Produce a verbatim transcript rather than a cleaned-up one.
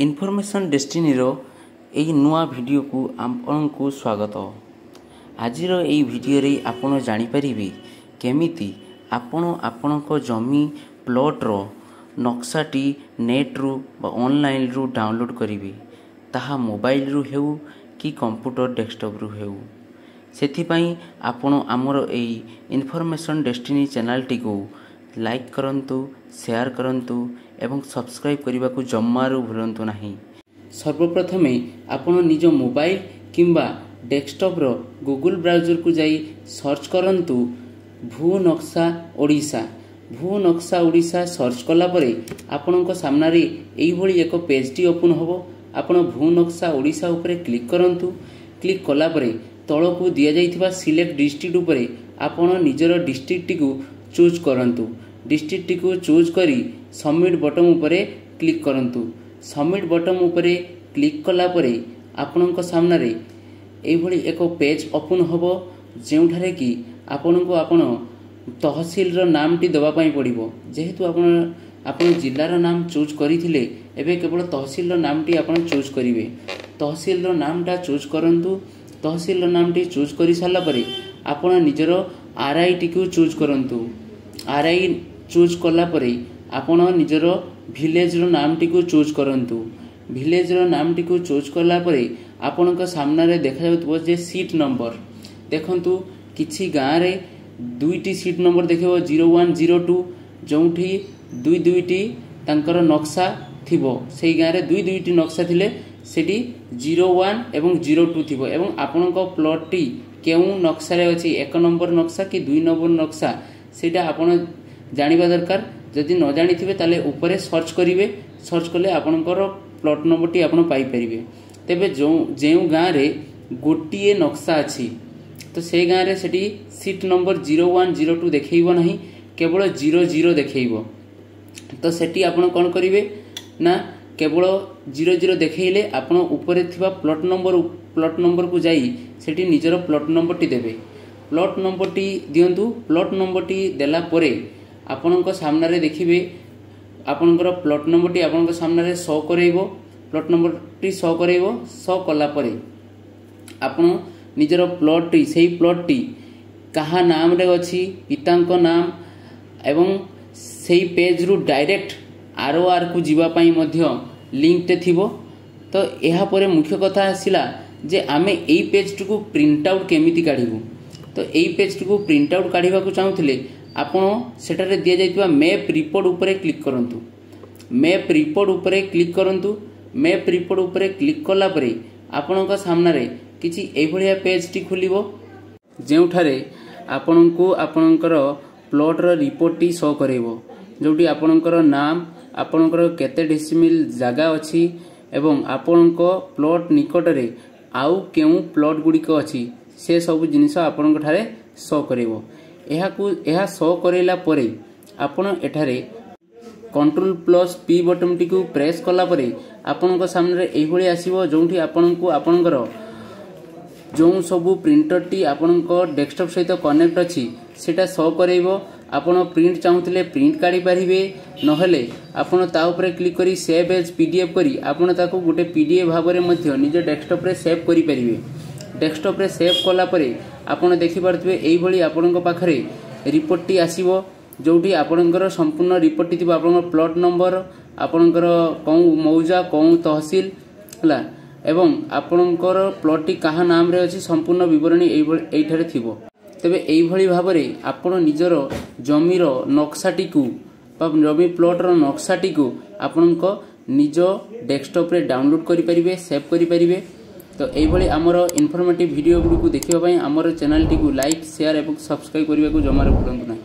Information ଡେଷ୍ଟିନିର ଏଇ ନୂଆ ଭିଡ଼ିଓକୁ ଆପଣଙ୍କୁ ସ୍ୱାଗତ। ଆଜିର ଏଇ ଭିଡ଼ିଓରେ ଆପଣ ଜାଣିପାରିବେ କେମିତି ଆପଣ ଆପଣଙ୍କ ଜମି ପ୍ଲଟ୍ର ନକ୍ସାଟି ନେଟ୍ରୁ ବା ଅନଲାଇନ୍ରୁ ଡାଉନଲୋଡ଼୍ କରିବେ, ତାହା ମୋବାଇଲରୁ ହେଉ କି କମ୍ପ୍ୟୁଟର ଡେସ୍କଟପ୍ରୁ ହେଉ। ସେଥିପାଇଁ ଆପଣ ଆମର ଏଇ ଇନଫର୍ମେସନ୍ ଡେଷ୍ଟିନି ଚ୍ୟାନେଲଟିକୁ ଲାଇକ୍ କରନ୍ତୁ, ସେୟାର କରନ୍ତୁ ଏବଂ ସବସ୍କ୍ରାଇବ୍ କରିବାକୁ ଜମାରୁ ଭୁଲନ୍ତୁ ନାହିଁ। ସର୍ବପ୍ରଥମେ ଆପଣ ନିଜ ମୋବାଇଲ କିମ୍ବା ଡେସ୍କଟପ୍ର ଗୁଗୁଲ ବ୍ରାଉଜରକୁ ଯାଇ ସର୍ଚ୍ଚ କରନ୍ତୁ ଭୂ ନକ୍ସା ଓଡ଼ିଶା। ଭୂ ନକ୍ସା ଓଡ଼ିଶା ସର୍ଚ୍ଚ କଲା ପରେ ଆପଣଙ୍କ ସାମ୍ନାରେ ଏଇଭଳି ଏକ ପେଜ୍ଟି ଓପନ୍ ହେବ। ଆପଣ ଭୂ ନକ୍ସା ଓଡ଼ିଶା ଉପରେ କ୍ଲିକ୍ କରନ୍ତୁ। କ୍ଲିକ୍ କଲା ପରେ ତଳକୁ ଦିଆଯାଇଥିବା ସିଲେକ୍ଟ ଡିଷ୍ଟ୍ରିକ୍ଟ ଉପରେ ଆପଣ ନିଜର ଡିଷ୍ଟ୍ରିକ୍ଟଟିକୁ ଚୁଜ୍ କରନ୍ତୁ। ଡିଷ୍ଟ୍ରିକ୍ଟଟିକୁ ଚୁଜ୍ କରି ସବମିଟ୍ ବଟନ୍ ଉପରେ କ୍ଲିକ୍ କରନ୍ତୁ। ସବମିଟ୍ ବଟନ୍ ଉପରେ କ୍ଲିକ୍ କଲା ପରେ ଆପଣଙ୍କ ସାମ୍ନାରେ ଏଇଭଳି ଏକ ପେଜ୍ ଓପନ୍ ହେବ, ଯେଉଁଠାରେ କି ଆପଣଙ୍କୁ ଆପଣ ତହସିଲର ନାମଟି ଦେବା ପାଇଁ ପଡ଼ିବ। ଯେହେତୁ ଆପଣ ଆପଣ ଜିଲ୍ଲାର ନାମ ଚୁଜ୍ କରିଥିଲେ, ଏବେ କେବଳ ତହସିଲର ନାମଟି ଆପଣ ଚୁଜ୍ କରିବେ। ତହସିଲର ନାମଟା ଚୁଜ୍ କରନ୍ତୁ। ତହସିଲର ନାମଟି ଚୁଜ୍ କରିସାରିଲା ପରେ ଆପଣ ନିଜର ଆର୍ ଆଇଟିକୁ ଚୁଜ୍ କରନ୍ତୁ। ଆର୍ I choose କଲା ପରେ ଆପଣ ନିଜର ଭିଲେଜର ନାମଟିକୁ ଚୁଜ୍ କରନ୍ତୁ। ଭିଲେଜର ନାମଟିକୁ ଚୁଜ୍ କଲା ପରେ ଆପଣଙ୍କ ସାମ୍ନାରେ ଦେଖାଯାଉଥିବ ଯେ ସିଟ୍ ନମ୍ବର। ଦେଖନ୍ତୁ, କିଛି ଗାଁରେ ଦୁଇଟି ସିଟ୍ ନମ୍ବର ଦେଖିବ, ଜିରୋ ୱାନ୍ ଜିରୋ ଟୁ, ଯେଉଁଠି ଦୁଇ ଦୁଇଟି ତାଙ୍କର ନକ୍ସା ଥିବ। ସେଇ ଗାଁରେ ଦୁଇ ଦୁଇଟି ନକ୍ସା ଥିଲେ ସେଠି ଜିରୋ ୱାନ୍ ଏବଂ ଜିରୋ ଟୁ ଥିବ ଏବଂ ଆପଣଙ୍କ ପ୍ଲଟ୍ଟି କେଉଁ ନକ୍ସାରେ ଅଛି, ଏକ ନମ୍ବର ନକ୍ସା କି ଦୁଇ ନମ୍ବର ନକ୍ସା, ସେଇଟା ଆପଣ ଜାଣିବା ଦରକାର। ଯଦି ନ ଜାଣିଥିବେ, ତାହେଲେ ଉପରେ ସର୍ଚ୍ଚ କରିବେ। ସର୍ଚ୍ଚ କଲେ ଆପଣଙ୍କର ପ୍ଲଟ୍ ନମ୍ବରଟି ଆପଣ ପାଇପାରିବେ। ତେବେ ଯେଉଁ ଯେଉଁ ଗାଁରେ ଗୋଟିଏ ନକ୍ସା ଅଛି, ତ ସେଇ ଗାଁରେ ସେଠି seat number zero one zero two ଦେଖେଇବ ନାହିଁ, କେବଳ ଜିରୋ ଜିରୋ ଦେଖେଇବ। ତ ସେଠି ଆପଣ କ'ଣ କରିବେ ନା, କେବଳ ଜିରୋ ଜିରୋ ଦେଖେଇଲେ ଆପଣ ଉପରେ ଥିବା ପ୍ଲଟ୍ ନମ୍ବର ପ୍ଲଟ୍ ନମ୍ବରକୁ ଯାଇ ସେଠି ନିଜର ପ୍ଲଟ୍ ନମ୍ବରଟି ଦେବେ। ପ୍ଲଟ୍ ନମ୍ବରଟି ଦିଅନ୍ତୁ। ପ୍ଲଟ୍ ନମ୍ବରଟି ଦେଲା ପରେ ଆପଣଙ୍କ ସାମ୍ନାରେ ଦେଖିବେ, ଆପଣଙ୍କର ପ୍ଲଟ୍ ନମ୍ବରଟି ଆପଣଙ୍କ ସାମ୍ନାରେ ଶୋ କରେଇବ। ପ୍ଲଟ୍ ନମ୍ବରଟି ଶୋ କରେଇବ। ଶୋ କଲା ପରେ ଆପଣ ନିଜର ପ୍ଲଟ୍ଟି, ସେଇ ପ୍ଲଟ୍ଟି କାହା ନାମରେ ଅଛି, ପିତାଙ୍କ ନାମ ଏବଂ ସେଇ ପେଜ୍ରୁ ଡାଇରେକ୍ଟ ଆର୍ ଓ ଆର୍କୁ ଯିବା ପାଇଁ ମଧ୍ୟ ଲିଙ୍କଟେ ଥିବ। ତ ଏହାପରେ ମୁଖ୍ୟ କଥା ଆସିଲା ଯେ ଆମେ ଏଇ ପେଜ୍ଟିକୁ ପ୍ରିଣ୍ଟ ଆଉଟ୍ କେମିତି କାଢ଼ିବୁ? ତ ଏଇ ପେଜ୍ଟିକୁ ପ୍ରିଣ୍ଟ ଆଉଟ୍ କାଢ଼ିବାକୁ ଚାହୁଁଥିଲେ ଆପଣ ସେଠାରେ ଦିଆଯାଇଥିବା ମ୍ୟାପ୍ ରିପୋର୍ଟ ଉପରେ କ୍ଲିକ୍ କରନ୍ତୁ। ମ୍ୟାପ୍ ରିପୋର୍ଟ ଉପରେ କ୍ଲିକ୍ କରନ୍ତୁ। ମ୍ୟାପ୍ ରିପୋର୍ଟ ଉପରେ କ୍ଲିକ୍ କଲା ପରେ ଆପଣଙ୍କ ସାମ୍ନାରେ କିଛି ଏଇଭଳିଆ ପେଜ୍ଟି ଖୋଲିବ, ଯେଉଁଠାରେ ଆପଣଙ୍କୁ ଆପଣଙ୍କର ପ୍ଲଟ୍ର ରିପୋର୍ଟଟି ଶୋ କରାଇବ, ଯେଉଁଠି ଆପଣଙ୍କର ନାମ, ଆପଣଙ୍କର କେତେ ଡିସିମିଲ୍ ଜାଗା ଅଛି ଏବଂ ଆପଣଙ୍କ ପ୍ଲଟ୍ ନିକଟରେ ଆଉ କେଉଁ ପ୍ଲଟ୍ ଗୁଡ଼ିକ ଅଛି, ସେ ସବୁ ଜିନିଷ ଆପଣଙ୍କ ଠାରେ ଶୋ କରିବ। ଏହାକୁ ଏହା ଶୋ କରାଇଲା ପରେ ଆପଣ ଏଠାରେ କଣ୍ଟ୍ରୋଲ ପ୍ଲସ୍ ପି ବଟନଟିକୁ ପ୍ରେସ୍ କଲା ପରେ ଆପଣଙ୍କ ସାମ୍ନାରେ ଏଇଭଳି ଆସିବ, ଯେଉଁଠି ଆପଣଙ୍କୁ ଆପଣଙ୍କର ଯେଉଁ ସବୁ ପ୍ରିଣ୍ଟରଟି ଆପଣଙ୍କ ଡେସ୍କଟପ୍ ସହିତ କନେକ୍ଟ ଅଛି, ସେଇଟା ଶୋ କରାଇବ। ଆପଣ ପ୍ରିଣ୍ଟ ଚାହୁଁଥିଲେ ପ୍ରିଣ୍ଟ କାଢ଼ିପାରିବେ, ନହେଲେ ଆପଣ ତା ଉପରେ କ୍ଲିକ୍ କରି save age P D F କରି ଆପଣ ତାକୁ ଗୋଟେ ପି ଡି ଏଫ୍ ଭାବରେ ମଧ୍ୟ ନିଜ ଡେସ୍କଟପ୍ରେ ସେଭ୍ କରିପାରିବେ। ଡେସ୍କଟପ୍ରେ ସେଭ୍ କଲା ପରେ ଆପଣ ଦେଖିପାରୁଥିବେ, ଏଇଭଳି ଆପଣଙ୍କ ପାଖରେ ରିପୋର୍ଟଟି ଆସିବ, ଯେଉଁଠି ଆପଣଙ୍କର ସମ୍ପୂର୍ଣ୍ଣ ରିପୋର୍ଟଟି ଥିବ, ଆପଣଙ୍କର ପ୍ଲଟ୍ ନମ୍ବର, ଆପଣଙ୍କର କେଉଁ ମୌଜା, କେଉଁ ତହସିଲ ହେଲା ଏବଂ ଆପଣଙ୍କର ପ୍ଲଟ୍ଟି କାହା ନାମରେ ଅଛି, ସମ୍ପୂର୍ଣ୍ଣ ବିବରଣୀ ଏଇଭଳି ଏଇଠାରେ ଥିବ। ତେବେ ଏଇଭଳି ଭାବରେ ଆପଣ ନିଜର ଜମିର ନକ୍ସାଟିକୁ ବା ଜମି ପ୍ଲଟ୍ର ନକ୍ସାଟିକୁ ଆପଣଙ୍କ ନିଜ ଡେସ୍କଟପ୍ରେ ଡାଉନଲୋଡ୍ କରିପାରିବେ, ସେଭ୍ କରିପାରିବେ। ତ ଏଇଭଳି ଆମର ଇନଫର୍ମେଟିଭ୍ ଭିଡ଼ିଓ ଗୁଡ଼ିକୁ ଦେଖିବା ପାଇଁ ଆମର ଚ୍ୟାନେଲଟିକୁ ଲାଇକ୍, ସେୟାର ଏବଂ ସବସ୍କ୍ରାଇବ୍ କରିବାକୁ ଜମାରୁ ଭୁଲନ୍ତୁ ନାହିଁ।